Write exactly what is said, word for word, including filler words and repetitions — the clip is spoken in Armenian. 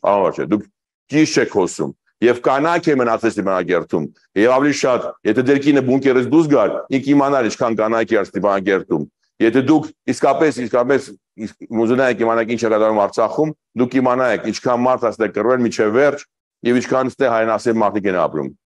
Ահա, դուք ճիշտ չեք խոսում։ Եվ կանայք է մնացել Ստեփանագերտում։ Եվ ավելի շատ, եթե ձեր կինը բունկերից դուրս գար, ինք իմանար ինչքան կանայք է Ստեփանագերտում։ Եթե դուք իսկապես իսկապես ուզում եք իմանալ ինչ է կատարվում Արցախում, դուք իմանայիք ինչքան մարդ է կռվել միջև վերջ եւ ինչքան այստեղ հայրենասեր մարդիկ են ապրում։